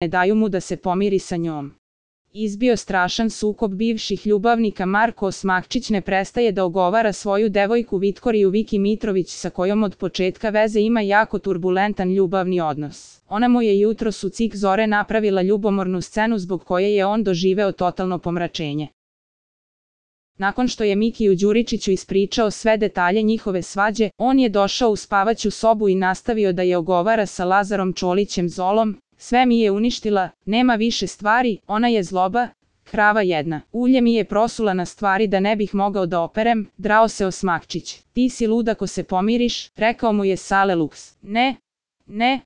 ne daju mu da se pomiri sa njom. Izbio strašan sukob bivših ljubavnika. Marko Osmakčić ne prestaje da ogovara svoju devojku Vitkoriju Viki Mitrović, sa kojom od početka veze ima jako turbulentan ljubavni odnos. Ona mu je jutros u cik zore napravila ljubomornu scenu zbog koje je on doživeo totalno pomračenje. Nakon što je Mikiju Đuričiću ispričao sve detalje njihove svađe, on je došao u spavaću sobu i nastavio da je ogovara sa Lazarom Čolićem Zolom. Sve mi je uništila, nema više stvari, ona je zloba, krava jedna. Ulje mi je prosula na stvari da ne bih mogao da operem, drao se Osmakčić. Ti si lud ako se pomiriš, rekao mu je Sale Luks. Ne,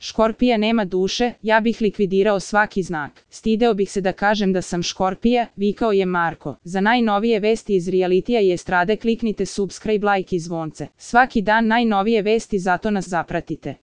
Škorpija nema duše, ja bih likvidirao svaki znak. Stideo bih se da kažem da sam Škorpija, vikao je Marko. Za najnovije vesti iz realitija i estrade kliknite subscribe, like i zvonce. Svaki dan najnovije vesti, zato nas zapratite.